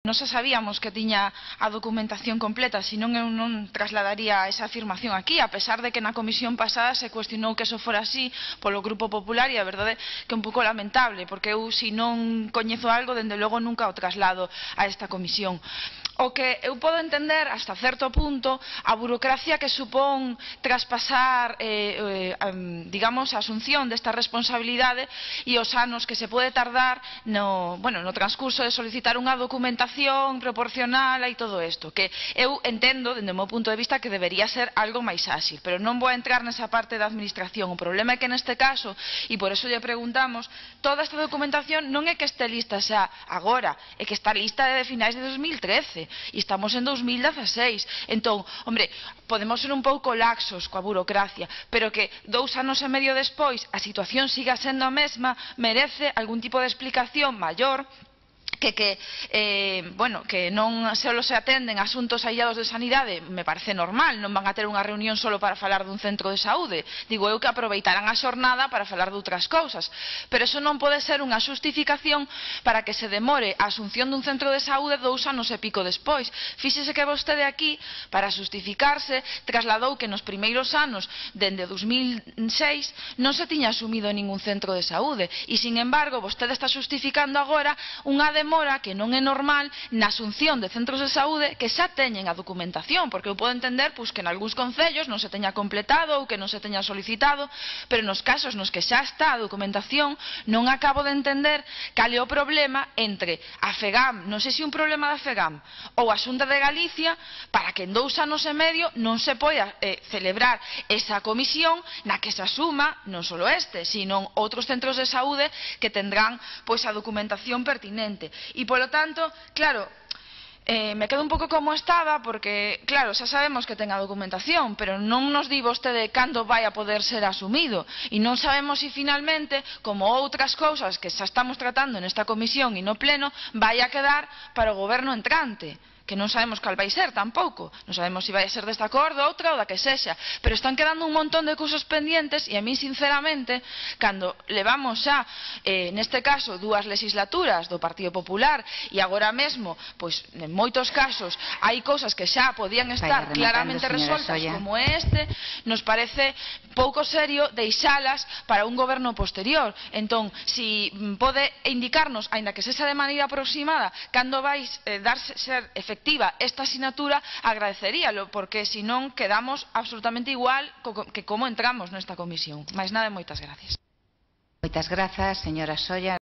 Non se sabíamos que tiña a documentación completa, senón eu non trasladaría esa afirmación aquí, a pesar de que na comisión pasada se cuestionou que eso fora así polo Grupo Popular, e a verdade que é un pouco lamentable, porque eu, se non coñezo algo, dende logo nunca o traslado a esta comisión. O que eu podo entender, hasta certo punto, a burocracia que supón traspasar, digamos, a asunción desta responsabilidade e os anos que se pode tardar no transcurso de solicitar unha documentación proporcional e todo isto, que eu entendo, dende o meu punto de vista, que debería ser algo máis áxil, pero non vou a entrar nesa parte da administración. O problema é que neste caso, e por eso lle preguntamos, toda esta documentación non é que este lista xa agora, é que está lista de finais de 2013, e estamos en 2016. Entón, hombre, podemos ser un pouco laxos coa burocracia, pero que 2 anos e medio despois a situación siga sendo a mesma, merece algún tipo de explicación maior, que non só se atenden asuntos aillados de sanidade, me parece normal, non van a ter unha reunión solo para falar dun centro de saúde, digo eu que aproveitarán a xornada para falar de outras cousas, pero eso non pode ser unha xustificación para que se demore a asunción dun centro de saúde 2 anos e pico despois. Fíxese que vostede aquí, para xustificarse, trasladou que nos primeiros anos, dende 2006, non se tiña asumido ningún centro de saúde, e, sin embargo, vostede está xustificando agora unha demora que non é normal na asunción de centros de saúde que xa teñen a documentación, porque eu podo entender que en algúns concellos non se teña completado ou que non se teña solicitado, pero nos casos nos que xa está a documentación non acabo de entender cal é o problema entre a FEGAM, non sei se un problema da FEGAM ou a Xunta de Galicia, para que en 2 anos e medio non se poida celebrar esa comisión na que se asuma non só este, sino outros centros de saúde que tendrán a documentación pertinente. E, polo tanto, claro, me quedo un pouco como estaba, porque, claro, xa sabemos que ten a documentación, pero non nos di vostede cando vai a poder ser asumido, e non sabemos se finalmente, como outras cousas que xa estamos tratando nesta comisión e no pleno, vai a quedar para o goberno entrante, que non sabemos cal vai ser tampouco, non sabemos se vai a ser deste acordo, outra ou da que sexa, pero están quedando un montón de cousas pendientes, e a mí, sinceramente, cando levamos xa, neste caso, 2 legislaturas do Partido Popular, e agora mesmo, en moitos casos, hai cousas que xa podían estar claramente resoltas, como este, nos parece pouco serio deixalas para un goberno posterior. Entón, se pode indicarnos, aínda que sexa de maneira aproximada, cando vai ser efectiva esta asignatura, agradeceríalo, porque senón quedamos absolutamente igual que como entramos nesta comisión. Máis nada e moitas gracias. Moitas grazas, señora Solla.